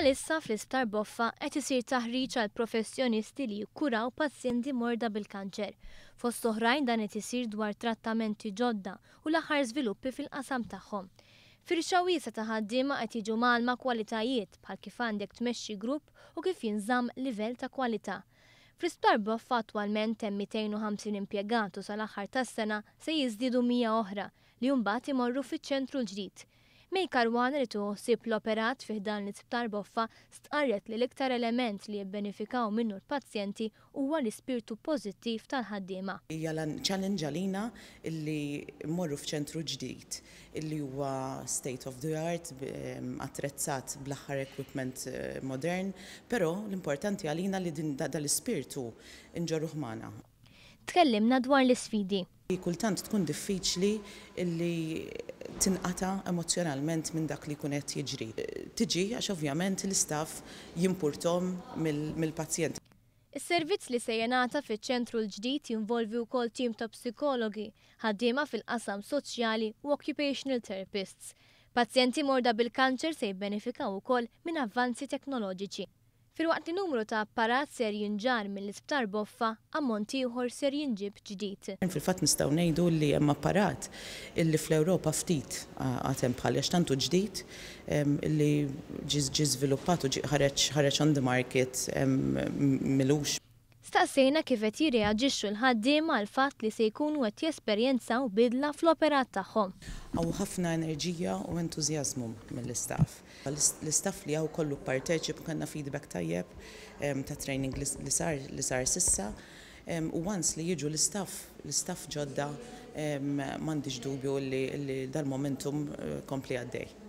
Bħalissa fl-Isptar Boffa qed isir taħriġ għal professjonisti li jikkuraw pazjenti morda bil-kanċer. Fost oħrajn dan qed isir dwar trattamenti ġodda u l-aħħar żviluppi fil-qasam tagħhom. Firxa wiesgħa ta' ħaddiema qed jiġu mgħallma kwalitajiet bħal kif għandek tmexxi grupp u kif jinżamm livell ta' kwalità. Fl-Isptar Boffa attwalment hemm 250 impjegat u sal-aħħar tas-sena se jiżdiedu 100 oħra li mbagħad imorru fiċ-ċentru l-ġdid. May Caruana, li tieħu ħsieb l-operat fi ħdan l-Isptar Boffa, stqarret li l-iktar element li jibbenefikaw minnu l-pazjenti huwa l-ispirtu pożittiv tal-ħaddiema. Hija challenge għalina illi mmorru f'ċentru ġdid illi huwa state of the art, attrezzat bl-aħħar equipment modern, però l-importanti għalina li din dal-ispirtu nġorruh magħna. Tkellimna dwar l-isfidi. Kultant tkun diffiċli illi tinqata emozjonalment minn dak li jkun qed jiġri. Tiġi għax ovvjament l-istaff jimpurtahom mill-pazjent. Is-servizz li se jingħata fiċ-ċentru l-ġdid jinvolvi wkoll tim ta' psikologi, ħaddiema fil-qasam soċjali u occupational therapists. Pazjenti morda bil-kanċer se jibbenefikaw ukoll minn avvanzi teknoloġiċi. Filwaqt li numru ta' apparat ser jinġarr mill-Isptar Boffa, ammont ieħor ser jinġib ġdid. Fil-fatt nistgħu ngħidu li hemm apparat illi fl-Ewropa ftit għad hemm bħal, għax tant hu ġdid illi ġie żviluppat u ħareġ on the market m'ilux. Staqsejna kif qed jirreaġixxu l-ħaddiema għal fatt li se jkunu qed jesperjenzaw bidla fl-operat tagħhom. Hawn ħafna enerġija u entużjażmu mill-istaff. L-istaff li hawn kollu parteċip, kellna feedback tajjeb ta' training li sar s'issa. U once li jiġu l-istaff ġodda, m'għandix dubju li dal-momentum kompli għaddej.